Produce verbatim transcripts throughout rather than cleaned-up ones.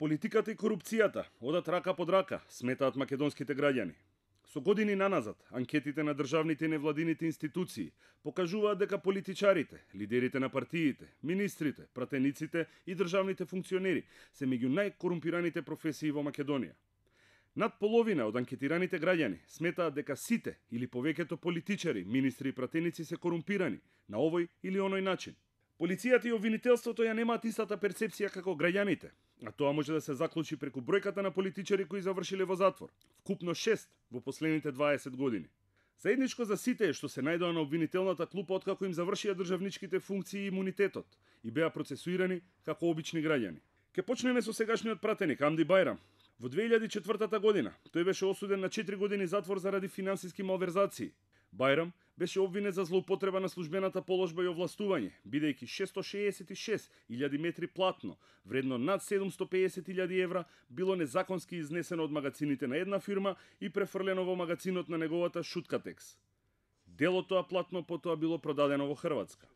Политиката и корупцијата одат рака под рака, сметаат македонските граѓани. Со години наназад, анкетите на државните и невладините институции покажуваат дека политичарите, лидерите на партиите, министрите, пратениците и државните функционери се меѓу најкорумпираните професии во Македонија. Над половина од анкетираните граѓани сметаат дека сите или повеќето политичари, министри и пратеници се корумпирани на овој или оној начин. Полицијата и обвинителството ја немаат истата перцепција како граѓаните, а тоа може да се заклучи преку бројката на политичари кои завршиле во затвор, вкупно шест во последните дваесет години. Заедничко за сите е што се најдоа на обвинителната клупа откако им завршија државничките функции и имунитетот и беа процесуирани како обични граѓани. Ке почнеме со сегашниот пратеник Амди Бајрам. Во две илјади и четвртата година тој беше осуден на четири години затвор заради финансиски малверзации. Бајрам беше обвинет за злоупотреба на службената положба и овластување, бидејќи шестстотини шеесет и шест илјади метри платно, вредно над седумстотини и пеесет илјади евра, било незаконски изнесено од магацините на една фирма и префрлено во магацинот на неговата Шуткатекс. Дел од тоа платно потоа било продадено во Хрватска.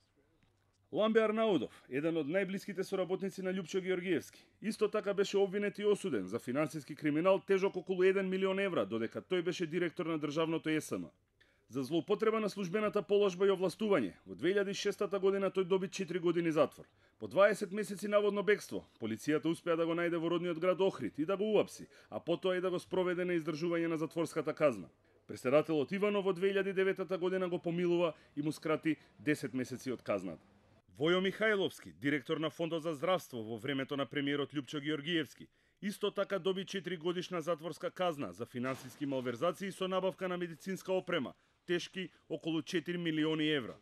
Ламбе Арнаудов, еден од најблиските соработници на Љупчо Георгиевски, исто така беше обвинет и осуден за финансиски криминал тежок околу еден милион евра, додека тој беше директор на државното Е С М. За злоупотреба на службената положба и овластување, во две илјади и шестата година тој доби четири години затвор. По дваесет месеци наводно бегство, полицијата успеа да го најде во родниот град Охрид и да го уапси, а потоа и да го спроведе на издржување на затворската казна. Преседателот Иванов во две илјади и деветата година го помилува и му скрати десет месеци од казната. Војо Михајловски, директор на Фондот за здравство во времето на премиерот Љупчо Георгиевски, исто така доби четири годишна затворска казна за финансиски малверзации со набавка на медицинска опрема, тешки околу четири милиони евра.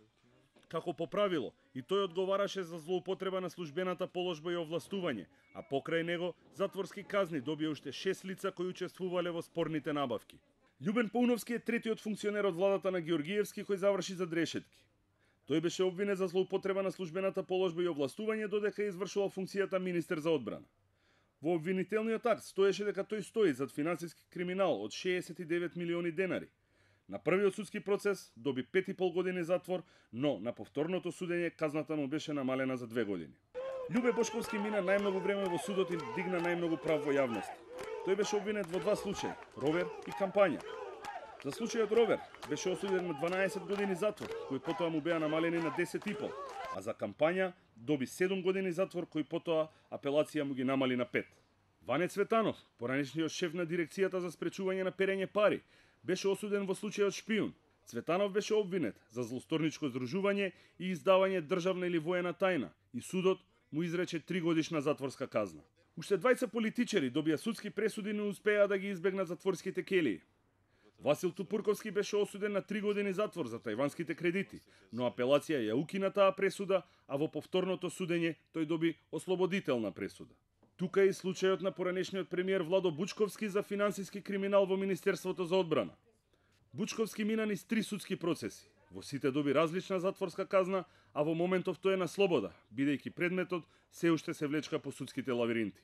Како по правило, и тој одговараше за злоупотреба на службената положба и овластување, а покрај него затворски казни добија уште шест лица кои учествувале во спорните набавки. Љубен Пауновски е третиот функционер од владата на Георгиевски кој заврши за дрешетки. Тој беше обвинет за злоупотреба на службената положба и овластување додека извршувал функцијата министер за одбрана. Во обвинителниот акт стоеше дека тој стои зад финансиски криминал од шеесет и девет милиони денари. На првиот судски процес доби пет и пол години затвор, но на повторното судење казната му беше намалена за две години. Љубе Бошковски мина најмногу време во судот и дигна најмногу прав во јавност. Тој беше обвинет во два случаи – ровер и кампања. За случајот ровер беше осуден на дванаесет години затвор, кои потоа му беа намалени на десет и пол, а за кампања доби седум години затвор, кои потоа апелација му ги намали на пет. Ване Цветанов, поранешниот шеф на дирекцијата за спречување на перење пари, беше осуден во случајот шпион. Цветанов беше обвинет за злосторничко здружување и издавање државна или воена тајна и судот му изрече три годишна затворска казна. Уште двајца политичари добија судски пресуди и не успеа да ги избегнат затворските келии. Васил Тупурковски беше осуден на три години затвор за тајванските кредити, но апелација ја укина таа пресуда, а во повторното судење тој доби ослободителна пресуда. Тука е и случајот на поранешниот премиер Владо Бучковски за финансиски криминал во Министерството за одбрана. Бучковски мина низ три судски процеси. Во сите доби различна затворска казна, а во моментов тој е на слобода, бидејќи предметот се уште се влечка по судските лавиринти.